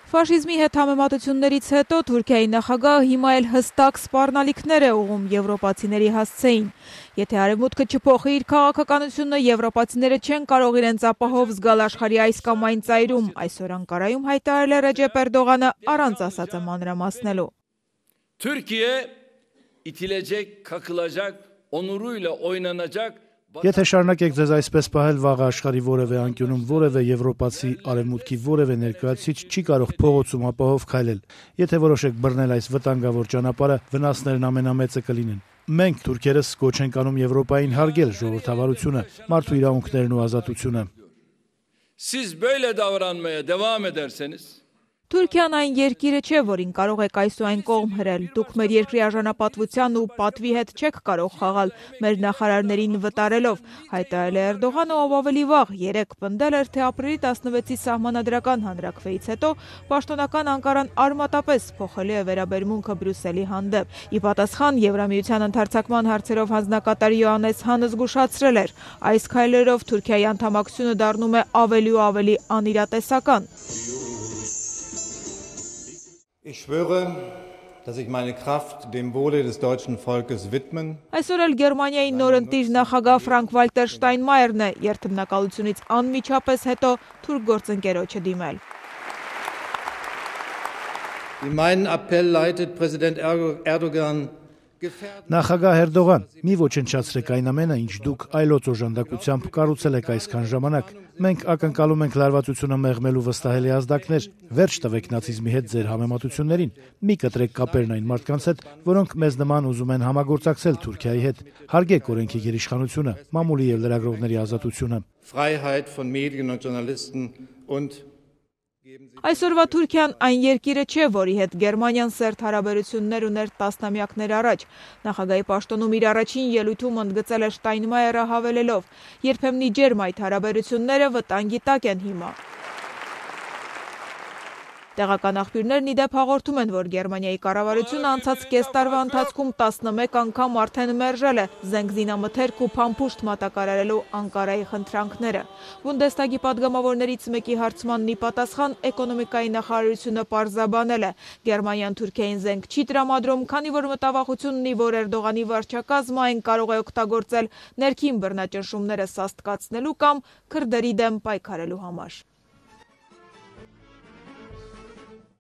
Ֆաշիզմի հետ համեմատություններից հետո Թուրքիայի նախագահը հիմա էլ հստակ սպառնալիքներ է ուղղում եվրոպացիների հասցեին։ Եթե արևմուտքը չփոխի իր քաղաքականությունը, եվրոպացիները չեն կարող իրենց ապահով զգալ աշխարհի այս կամ այն ծայրում, այսօր Անկարայում հայտարարել է Ռեջեփ Էրդողանը առանց ասածը մանրամասնելու։ Türkiye itilecek, kakılacak, onuruyla oynanacak. Եթե շարունակեք ձեզ այսպես պահել, վաղը աշխարհի որևէ անկյունում որևէ եվրոպացի արևմուտքի որևէ ներկայացուցիչ չի կարող փողոցում ապահով քայլել։ Եթե որոշեք բռնել այս վտանգավոր ճանապարհը, վնասներն ամենամեծը կլինեն։ Մենք թուրքերս կոչ ենք անում Եվրոպային հարգել ժողովրդավարությունը, մարդու իրավունքներն ու ազատությունը։ Siz böyle davranmaya devam ederseniz Թուրքիան այն երկիրը չէ, որին կարող եք այս ու այն կողմ հրել։ Դուք մեր երկրի արժանապատվության ու պատվի հետ չեք կարող խաղալ մեր նախարարներին վտարելով, հայտարարել է Էրդողանը, ով ավելի վաղ 3 պնդել էր, թե ապրիլի 16-ի սահմանադրական հանրաքվեից հետո պաշտոնական Անկարան արմատապես փոխելու է վերաբերմունքը Բրյուսելի հանդեպ։ Ի պատասխան Եվրամիության ընդհարձակման հարցերով հանձնակատար Յոհաննես Հանը զգուշացրել էր, այս քայլերով Թուրքիայի անդամակցությունը դառնում է ավելի ու ավելի անիրատեսական։ Ich schwöre, dass ich meine Kraft dem Wohle des deutschen Volkes widmen. Այսօր էլ Գերմանիայի նոր ընտիր նախագահ Ֆրանկ-Վալտեր Շտայնմայերն է երթմնակալությունից անմիջապես հետո թուրք գործընկերոջը դիմել։ In meinen Appell leitet Präsident Erdogan Նախագահ Էրդողան, մի ոչնչացրեք այն ամենը, ինչ դուք այլոց օժանդակությամբ կառուցել եք այսքան ժամանակ։ Մենք ակնկալում ենք լարվածությունը մեղմելու վստահելի ազդակներ, վերջ տվեք նացիզմի հետ ձեր համեմատություններին, մի կտրեք կապերն այն մարդկանց հետ, որոնք մեզ նման ուզում են համագործակցել Թուրքիայի հետ, հարգեք օրենքի գերիշխանությունը, մամուլի եւ լրագրողների ազատությունը։ Freiheit von Medien und Journalisten und Այսօրվա Թուրքիան այն երկիրը չէ, որի հետ Գերմանիան սերտ հարաբերություններ ուներ տասնամյակներ առաջ։ Նախագահի պաշտոնում իր առաջին ելույթում ընդգծել է Շտայնմայերը հավելելով. երբեմնի ջերմ այդ հարաբերությունները վտանգի տակ են հիմա։ Տեղական աղբյուրներն ի դեպ հաղորդում են, որ Գերմանիայի կառավարությունը անցած կես տարվա ընթացքում 11 անգամ արդեն մերժել է զենգզինամթերք ու փամփուշտ մատակարարելու Անկարայի խնդրանքները։ Բունդեսթագի падգամավորներից մեկի հարցմանն ի պատասխան էկոնոմիկայի նախարարությունը պարզաբանել է. Գերմանիան Թուրքիային զենք չի տրամադրում, քանի որ մտավախությունն ունի, որ Էրդողանի վարչակազմը այն կարող է օգտագործել ներքին բռնաճնշումները սաստկացնելու կամ քրդերի դեմ պայքարելու համար։